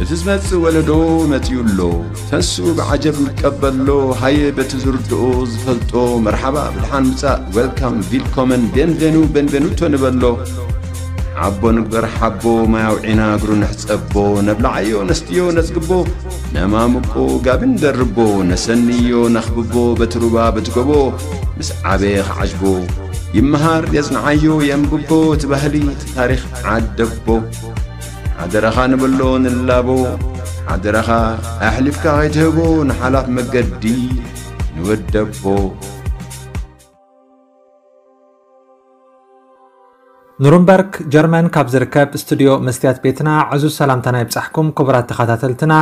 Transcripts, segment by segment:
እቲ ዝመጽእ ወለዶ መጺኡ ኣሎ። ተስኡ ብዓጀብ ይቀበሎ። ሃየ በቲ ዝርድኦ ዝፈልጦ መርሓባ ብድሓን ምጻእ፣ ዌልካም፣ ቪልኮመን፣ ቤንቬኑ፣ ቤንቬኑቶ ንበሎ። ሓቦ ንግበር ሓቦ፣ ማይ ኣውዒና እግሩ ንሕጸቦ። ነብልዓዮ ነስትዮ ነጽግቦ፣ ነማምቆ ጋቢ ንደርቦ። ነሰንዮ ነኽብቦ በቲ ሩባ በቲ ጎቦ። ምስ ዓበየ ክዓጅቦ ይመሃር የጽንዓዮ የንብቦ። እቲ ባህሊ እቲ ታሪኽ ዓደቦ። ሓደራኻ ንብሎ ንላቦ። ሓደራኻ ኣሕሊፍካ ከይትህቦ ንሓላፍ መገዲ ንወደቦ። ኑርንበርግ ጀርመን ካብ ዝርከብ ስቱድዮ መስትያት ቤትና ዕዙዝ ሰላምታና ይብጻሕኩም ክቡራት ተኸታተልትና።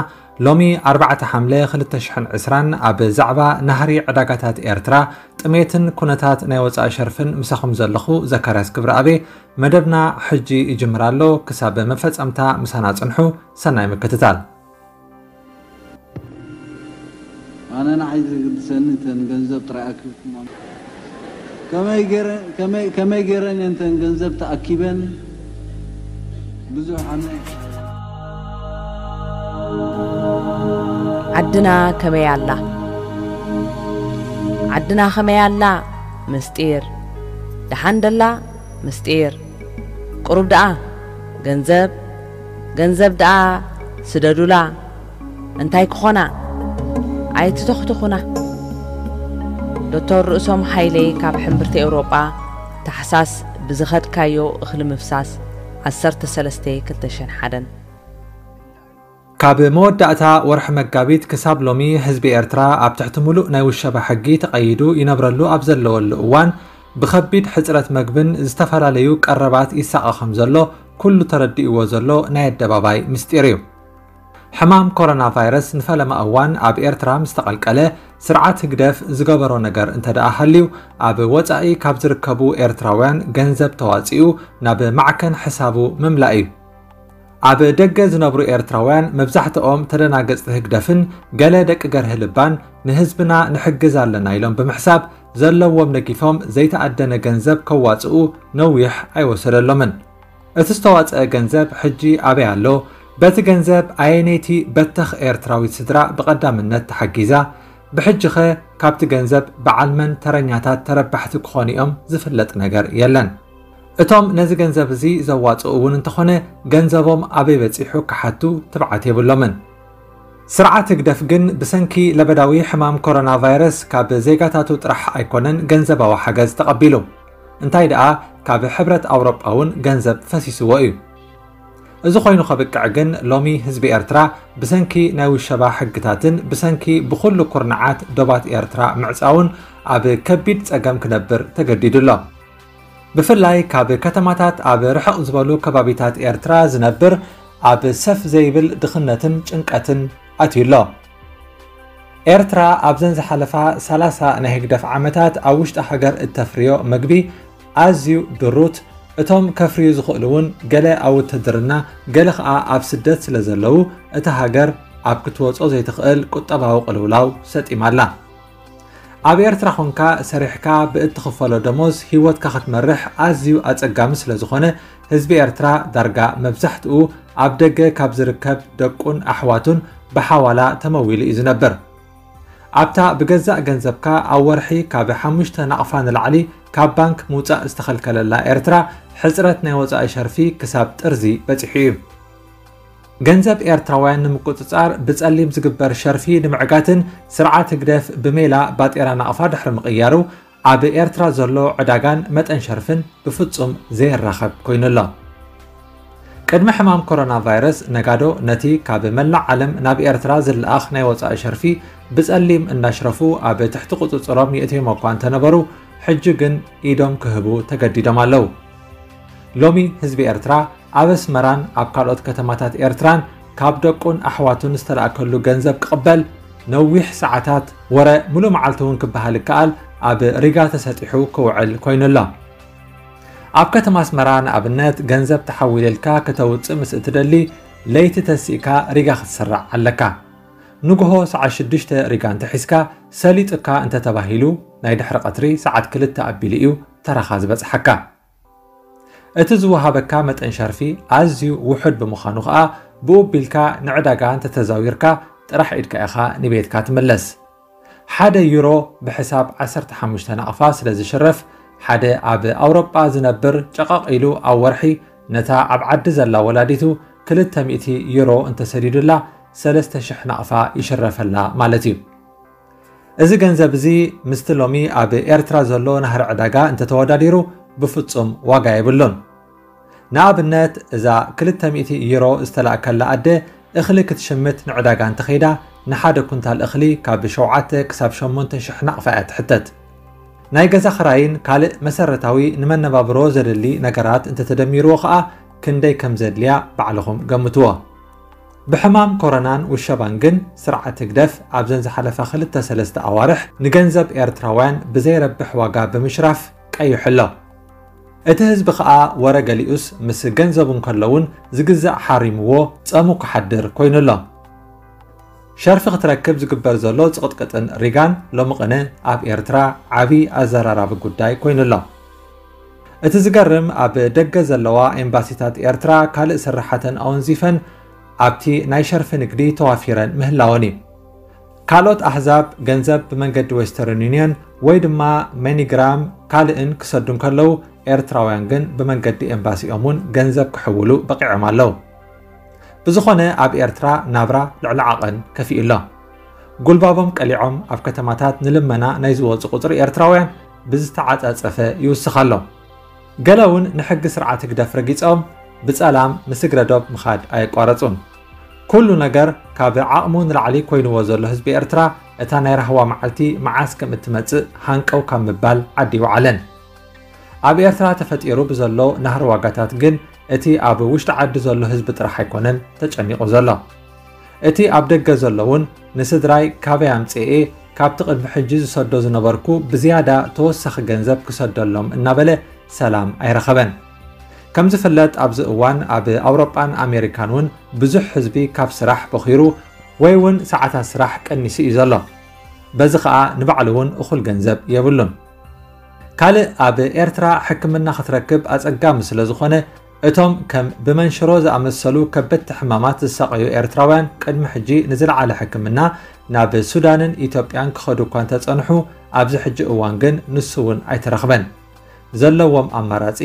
ሎሚ ኣርባዕተ ሓምለ ክልተ ሽሕን ዕስራን ኣብ ዛዕባ ናህሪ ዕዳጋታት ኤርትራ፣ ጥሜትን ኩነታት ናይ ወጻኢ ሸርፍን ምሳኹም ዘለኹ ዘካርያስ ክብረኣብ። መደብና ሕጂ ይጅምር ኣሎ። ክሳብ መፈጸምታ ምሳና ጽንሑ። ሰናይ ምክትታል። ኣነ ንዓይ ዘገድሰኒ እተን ገንዘብ ጥራይ ኣኪብኩም። ከመይ ገይረ-፣ ከመይ፣ ከመይ ገይረን እየን እተን ገንዘብ ተኣኪበን? ብዙሕ ኣነ። ዓድና ከመይ ኣላ? ዓድና ከመይ ኣላ? ምስጢር። ደሓን ደላ? ምስጢር። ቁሩብ ደኣ ገንዘብ፣ ገንዘብ ደኣ ስደዱላ። እንታይ ክኾና? ኣይትተኽትኹና። ዶክተር ርእሶም ሃይለ ካብ ሕምብርቲ ኤውሮጳ፣ ታሕሳስ ብዝኸድካዮ እኽሊ ምፍሳስ፣ ዓሰርተ ሰለስተ ክልተ ሽሕን ሓደን። ካብ መወዳእታ ወርሒ መጋቢት ክሳብ ሎሚ ህዝቢ ኤርትራ ኣብ ትሕቲ ምሉእ ናይ ውሸባ ሕጊ ተቐይዱ ይነብረሉ ኣብ ዘለወሉ እዋን፣ ብኸቢድ ሕጽረት መግብን ዝተፈላለዩ ቀረባት ይሳቐ ከም ዘሎ ኩሉ ተረዲእዎ ዘሎ ናይ ኣደባባይ ምስጢር እዩ። ሕማም ኮሮና ቫይረስ ንፈለማ እዋን ኣብ ኤርትራ ምስ ተቐልቀለ፣ ስርዓት ህግደፍ ዝገበሮ ነገር እንተ ደኣ ሃልዩ፣ ኣብ ወጻኢ ካብ ዝርከቡ ኤርትራውያን ገንዘብ ተዋጺኡ ናብ ማዕከን ሕሳቡ ምምላእ እዩ። ኣብ ደገ ዝነብሩ ኤርትራውያን መብዛሕትኦም ተደናገጽቲ ህግደፍን ገለ ደቂ ገርሂ ልባን ንህዝብና ንሕግዝ ኣለና ኢሎም ብምሕሳብ ዘለዎም ነጊፎም ዘይተኣደነ ገንዘብ ከዋጽኡ ነዊሕ ኣይወሰደሎምን። እቲ ዝተዋጽአ ገንዘብ ሕጂ ኣበይ ኣሎ? በቲ ገንዘብ ኣየነይቲ በተኽ ኤርትራዊት ስድራ ብቐዳምነት ተሓጊዛ? ብሕጂኸ ካብቲ ገንዘብ በዓል መን ተረኛታት ተረባሕቲ ክኾኑ እዮም ዝፍለጥ ነገር የለን። እቶም ነዚ ገንዘብ እዚ ዘዋጽኡ እውን እንተኾነ ገንዘቦም ኣበይ በጺሑ ክሓቱ ትብዓት የብሎምን። ስርዓት ህግደፍ ግን ብሰንኪ ለበዳዊ ሕማም ኮሮና ቫይረስ ካብ ዜጋታቱ ጥራሕ ኣይኮነን ገንዘባዊ ሓገዝ ተቐቢሉ። እንታይ ደኣ ካብ ሕብረት ኣውሮጳ እውን ገንዘብ ፈሲስዎ እዩ። እዚ ኮይኑ ከብቅዕ ግን ሎሚ ህዝቢ ኤርትራ ብሰንኪ ናይ ውሸባ ሕግታትን ብሰንኪ ብኹሉ ኩርናዓት ዶባት ኤርትራ ምዕጻውን ኣብ ከቢድ ጸገም ክነብር ተገዲዱ ኣሎ። ብፍላይ ካብ ከተማታት ኣብ ርሕቕ ዝበሉ ከባቢታት ኤርትራ ዝነብር ኣብ ሰፍ ዘይብል ድኽነትን ጭንቀትን ኣትዩ ኣሎ። ኤርትራ ኣብዘን ዝሓለፋ ሰላሳ ናይ ህግደፍ ዓመታት ኣብ ውሽጢ ሃገር እተፍርዮ መግቢ ኣዝዩ ድሩት፣ እቶም ከፍርዩ ዝኽእሉ እውን ገለ ኣብ ውትድርና፣ ገለ ኸኣ ኣብ ስደት ስለ ዘለዉ፣ እታ ሃገር ኣብ ክትወጾ ዘይትኽእል ቁጠባዊ ቅልውላው ሰጢማ ኣላ። ኣብ ኤርትራ ኾንካ ሰሪሕካ ብእትኽፈሎ ደሞዝ ህይወትካ ክትመርሕ ኣዝዩ ኣጸጋሚ ስለ ዝኾነ፣ ህዝቢ ኤርትራ ዳርጋ መብዛሕትኡ ኣብ ደገ ካብ ዝርከብ ደቁን ኣሕዋቱን ብሓዋላ ተመዊሉ እዩ ዝነብር። ኣብታ ብገዛእ ገንዘብካ ኣብ ወርሒ ካብ ሓሙሽተ ናቕፋ ንላዕሊ ካብ ባንክ ምውጻእ ዝተኸልከለላ ኤርትራ፣ ሕጽረት ናይ ወጻኢ ሸርፊ ክሳብ ጥርዚ በጺሑ እዩ። ገንዘብ ኤርትራውያን ንምቁጽጻር ብጸሊም ዝግበር ሸርፊ ንምዕጋትን ስርዓት ህግደፍ ብሜላ ባጤራ ናቕፋ ድሕሪ ምቕያሩ፣ ኣብ ኤርትራ ዘሎ ዕዳጋን መጠን ሸርፍን ብፍጹም ዘየራኸብ ኮይኑ ኣሎ። ቅድሚ ሕማም ኮሮና ቫይረስ፣ ነጋዶ ነቲ ካብ መላእ ዓለም ናብ ኤርትራ ዝለኣኽ ናይ ወጻኢ ሸርፊ ብጸሊም እናሽረፉ ኣብ ትሕቲ ቁጽጽሮም የእትዮም እኳ እንተነበሩ፣ ሕጂ ግን ኢዶም ክህቡ ተገዲዶም ኣለዉ። ሎሚ ህዝቢ ኤርትራ ኣብ ኣስመራን ኣብ ካልኦት ከተማታት ኤርትራን ካብ ደቁን ኣሕዋቱን ዝተላእከሉ ገንዘብ ክቕበል፣ ነዊሕ ሰዓታት፣ ወረ ምሉእ መዓልቲ እውን ክበሃል ይከኣል፣ ኣብ ሪጋ ተሰጢሑ ክውዕል ኮይኑ ኣሎ። ኣብ ከተማ ኣስመራ ንኣብነት፣ ገንዘብ ተሓዊልልካ ከተውጽእ ምስ እትደሊ፣ ለይቲ ተሲእካ ሪጋ ክትስራዕ ኣለካ። ንግሆ ሰዓት ሽዱሽተ ሪጋ እንተሒዝካ፣ ሰሊጡካ እንተተባሂሉ፣ ናይ ድሕሪ ቀትሪ ሰዓት ክልተ ኣቢሉ እዩ ተራኻ ዝበጽሓካ። እቲ ዝወሃበካ መጠን ሸርፊ ኣዝዩ ውሑድ ብምዃኑ ኸኣ፣ ብኡ ቢልካ ንዕዳጋ እንተተዛዊርካ ጥራሕ ኢድካ ኢኻ ንቤትካ ትምለስ። ሓደ ዩሮ ብሕሳብ ዓሰርተ ሓሙሽተ ናቕፋ ስለ ዝሽረፍ፣ ሓደ ኣብ ኣውሮጳ ዝነብር ጨቐቕ ኢሉ ኣብ ወርሒ ነታ ኣብ ዓዲ ዘላ ወላዲቱ ክልተ ሚእቲ ዩሮ እንተሰዲዱላ ሰለስተ ሽሕ ናቕፋ ይሽረፈላ ማለት እዩ። እዚ ገንዘብ እዚ ምስቲ ሎሚ ኣብ ኤርትራ ዘሎ ናህሪ ዕዳጋ እንተተወዳዲሩ ብፍጹም ዋጋ የብሉን። ንኣብነት፣ እዛ ክልተ ሚእቲ ዩሮ ዝተላእከላ ኣደ እኽሊ ክትሽምት ንዕዳጋ እንተኸይዳ፣ ንሓደ ኩንታል እኽሊ ካብ ሸውዓተ ክሳብ ሸሞንተ ሽሕ ናቕፋ እያ ትሕተት። ናይ ገዛ ኽራይን ካልእ መሰረታዊ ንመነባብሮ ዘደሊ ነገራት እንተተደሚርዎ ኸኣ ክንደይ ከም ዘድልያ ባዕልኹም ገምትዎ። ብሕማም ኮሮናን ውሸባን ግን ስርዓት ህግደፍ ኣብዘን ዝሓለፋ ክልተ ሰለስተ ኣዋርሕ ንገንዘብ ኤርትራውያን ብዘይረብሕ ዋጋ ብምሽራፍ ቀይሑ ኣሎ። እቲ ህዝቢ ኸኣ ወረ ገሊኡስ ምስ ገንዘቡ እንከሎ እውን ዝግዛእ ሓሪምዎ ጸሙ ክሓድር ኮይኑ ኣሎ። ሸርፊ ክትረክብ ዝግበር ዘሎ ጽቕጥቅጥን ሪጋን ሎሚ ቅነ ኣብ ኤርትራ ዓቢ ኣዘራራቢ ጉዳይ ኮይኑ ኣሎ። እቲ ዝገርም ኣብ ደገ ዘለዋ ኤምባሲታት ኤርትራ ካልእ ስራሓተን ኣወንዚፈን ኣብቲ ናይ ሸርፊ ንግዲ ተዋፊረን ምህላወን እዩ። ካልኦት ኣህዛብ ገንዘብ ብመንገዲ ዌስተርን ዩኒየን ወይ ድማ መኒግራም ካልእን ክሰዱ እንከለዉ ኤርትራውያን ግን ብመንገዲ ኤምባሲኦም እውን ገንዘብ ክሕውሉ በቂዖም ኣለዉ። ብዝኾነ ኣብ ኤርትራ ናብራ ልዕሊ ዓቐን ከፊኡ ኣሎ። ጉልባቦም ቀሊዖም ኣብ ከተማታት ንልመና ናይ ዝወጹ ቁጽሪ ኤርትራውያን ብዝተዓጻጸፈ ይውስኽ ኣሎ። ገለ እውን ንሕጊ ስርዓት ህግደፍ ረጊጾም ብጸላም ንስግረ ዶብ ምኻድ ኣየቋረጹን። ኩሉ ነገር ካብ ዓቕሙ ንላዕሊ ኮይንዎ ዘሎ ህዝቢ ኤርትራ እታ ናይ ራህዋ መዓልቲ መዓስ ከም እትመጽእ ሃንቀው ካብ ምባል ዓዲ ይወዓለን። ኣብ ኤርትራ ተፈጢሩ ብዘሎ ናህሪ ዋጋታት ግን እቲ ኣብ ውሽጢ ዓዲ ዘሎ ህዝቢ ጥራሕ ኣይኮነን ተጨኒቑ ዘሎ። እቲ ኣብ ደገ ዘሎ እውን ንስድራይ ካበይ ኣምጽኤ ካብቲ ቅድሚ ሕጂ ዝሰዶ ዝነበርኩ ብዝያዳ ተወሳኺ ገንዘብ ክሰደሎም እናበለ ሰላም ኣይረኸበን። ከም ዝፍለጥ ኣብዚ እዋን ኣብ ኣውሮጳን ኣሜሪካን እውን ብዙሕ ህዝቢ ካብ ስራሕ በኺሩ ወይ እውን ሰዓታት ስራሕ ቀኒሱ እዩ ዘሎ። በዚ ኸኣ ንባዕሉ እውን እኹል ገንዘብ የብሉን። ካልእ ኣብ ኤርትራ ሕክምና ክትረክብ ኣጸጋሚ ስለ ዝኾነ እቶም ከም ብመንሽሮ ዝኣመሰሉ ከበድቲ ሕማማት ዝሳቐዩ ኤርትራውያን ቅድሚ ሕጂ ንዝለዓለ ሕክምና ናብ ሱዳንን ኢትዮጵያን ክኸዱ እኳ እንተጸንሑ ኣብዚ ሕጂ እዋን ግን ንሱ እውን ኣይተረኽበን። ዘለዎም ኣማራጺ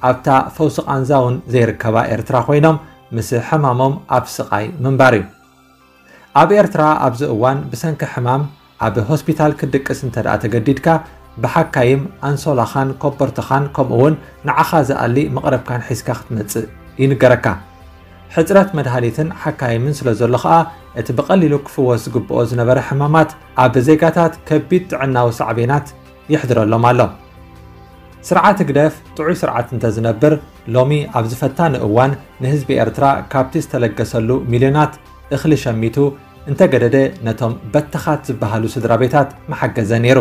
ኣብታ ፈውሲ ቃንዛ እውን ዘይርከባ ኤርትራ ኮይኖም ምስ ሕማሞም ኣብ ስቓይ ምንባር እዩ። ኣብ ኤርትራ ኣብዚ እዋን ብሰንኪ ሕማም ኣብ ሆስፒታል ክትድቅስ እንተ ደኣ ተገዲድካ ብሓካይም ኣንሶላኻን ኮበርትኻን ከምኡ እውን ንዓኻ ዝኣሊ መቕረብካን ሒዝካ ክትመጽእ ይንገረካ። ሕጽረት መድሃኒትን ሓካይምን ስለ ዘሎ ኸኣ እቲ ብቐሊሉ ክፍወስ ዝግብኦ ዝነበረ ሕማማት ኣብ ዜጋታት ከቢድ ጥዕናዊ ሳዕቤናት የሕድረሎም ኣሎ። ስርዓት ህግደፍ ጥዑይ ስርዓት እንተዝነብር ሎሚ ኣብዚ ፈታኒ እዋን ንህዝቢ ኤርትራ ካብቲ ዝተለገሰሉ ሚልዮናት እኽሊ ሸሚቱ እንተገደደ ነቶም በተኻት ዝበሃሉ ስድራ ቤታት መሓገዘ ነይሩ።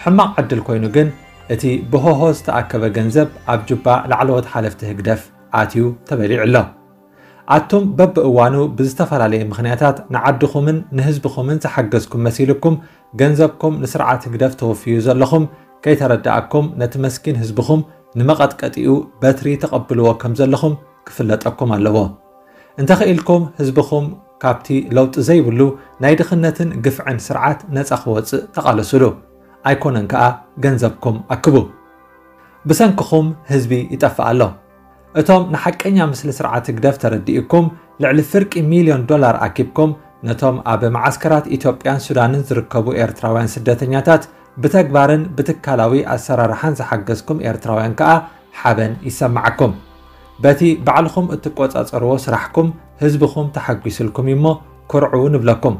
ሕማቕ ዕድል ኮይኑ ግን እቲ ብሆሆ ዝተኣከበ ገንዘብ ኣብ ጁባ ላዕለዎት ሓለፍቲ ህግደፍ ኣትዩ ተበሊዑ ኣሎ። ኣቱም በብእዋኑ ብዝተፈላለየ ምኽንያታት ንዓድኹምን ንህዝብኹምን ዝሓገዝኩም መሲልኩም ገንዘብኩም ንስርዓት ህግደፍ ተወፍዩ ዘለኹም ከይተረድኣኩም ነቲ መስኪን ህዝብኹም ንመቐጥቀጢኡ በትሪ ተቐብልዎ ከም ዘለኹም ክፍለጠኩም ኣለዎ። እንተኽኢልኩም ህዝብኹም ካብቲ ለውጢ ዘይብሉ ናይ ድኽነትን ግፍዕን ስርዓት ነጻ ክወጽእ ተቓለሱሉ። ኣይኮነን ከኣ ገንዘብኩም ኣክቡ። ብሰንክኹም ህዝቢ ይጠፍእ ኣሎ። እቶም ንሓቀኛ ምስሊ ስርዓት ህግደፍ ተረዲእኩም ልዕሊ ፍርቂ ሚልዮን ዶላር ኣኪብኩም ነቶም ኣብ መዓስከራት ኢትዮጵያን ሱዳንን ዝርከቡ ኤርትራውያን ስደተኛታት ብተግባርን ብትካላዊ ኣሰራርሓን ዝሓገዝኩም ኤርትራውያን ከኣ ሓበን ይሰማዓኩም። በቲ ባዕልኹም እትቆጻጸርዎ ስራሕኩም ህዝብኹም ተሓጒስልኩም እዩ እሞ ኩርዑ ንብለኩም።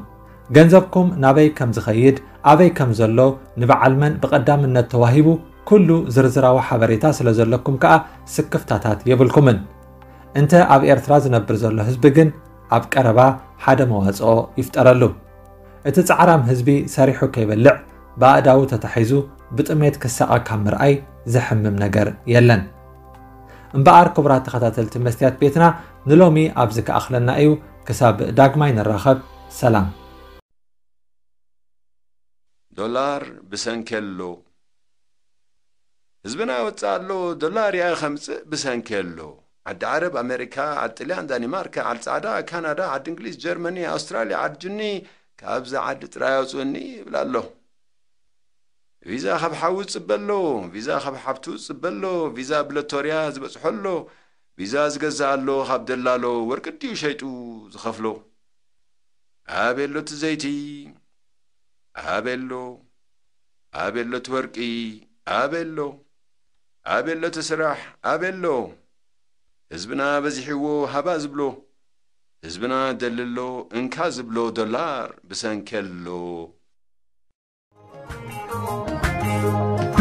ገንዘብኩም ናበይ ከም ዝኸይድ ኣበይ ከም ዘሎ ንበዓል መን ብቐዳምነት ተዋሂቡ ኩሉ ዝርዝራዊ ሓበሬታ ስለ ዘለኩም ከኣ ስክፍታታት የብልኩምን። እንተ ኣብ ኤርትራ ዝነብር ዘሎ ህዝቢ ግን ኣብ ቀረባ ሓደ መዋጽኦ ይፍጠረሉ። እቲ ጻዕራም ህዝቢ ሰሪሑ ከይበልዕ ብኣእዳዉ ተታሒዙ ብጥሜት ክሳቐ ካብ ምርኣይ ዘሕምም ነገር የለን። እምበኣር ክቡራት ተኸታተልቲ መስትያት ቤትና ንሎሚ ኣብዚ ክኣኽለና እዩ። ክሳብ ዳግማይ ንራኸብ ሰላም። ዶላር ብሰንኪ ኣሎ። ህዝብና ይወጽእ ኣሎ፣ ዶላር ይኣ ከምጽእ ብሰንኪ ኣሎ። ዓዲ ዓረብ፣ ኣሜሪካ፣ ዓዲ ጥልያን፣ ዳኒማርካ፣ ዓዲ ጻዕዳ፣ ካናዳ፣ ዓዲ እንግሊዝ፣ ጀርመኒ፣ ኣውስትራልያ፣ ዓዲ ጅኒ፣ ካብዛ ዓዲ ጥራይ ኣውጽእኒ ይብል ኣሎ። ቪዛ ካብ ሓዉ ዝጽበ ኣሎ፣ ቪዛ ካብ ሓብቱ ዝጽበ ኣሎ፣ ቪዛ ብለቶርያ ዝበጽሖ ኣሎ፣ ቪዛ ዝገዝእ ኣሎ፣ ካብ ደላሎ ወርቂ ድዩ ሸይጡ ዝኸፍሎ? ኣበሎ እቲ ዘይቲ፣ ኣበሎ፣ ኣበሎ እቲ ወርቂ፣ ኣበሎ፣ ኣበሎ እቲ ስራሕ፣ ኣበሎ። ህዝብና በዚሕዎ ሃባ ዝብሎ፣ ህዝብና ደልሎ እንካ ዝብሎ ዶላር ብሰንከሎ።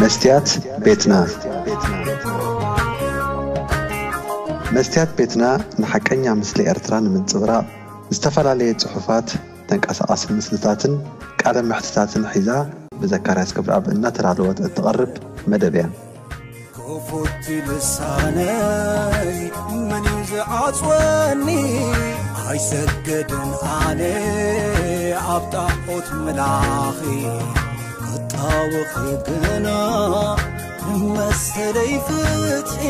መስትያት ቤትና። መስትያት ቤትና ንሓቀኛ ምስሊ ኤርትራ ንምንጽብራቕ ዝተፈላለየ ጽሑፋት፣ ተንቀሳቓሲ ምስልታትን ቃለ መሕትታትን ሒዛ ብዘካርያስ ገብረኣብ እናተዳለወት እትቐርብ መደብ እያ። ክፉት ልሳነይ መን እዩ ዝዓጽወኒ? ኣይሰገድን ኣነ ኣብ ጣዖት ምላኺ ክጣወኺ ግና ንመሰለይ ፍትሒ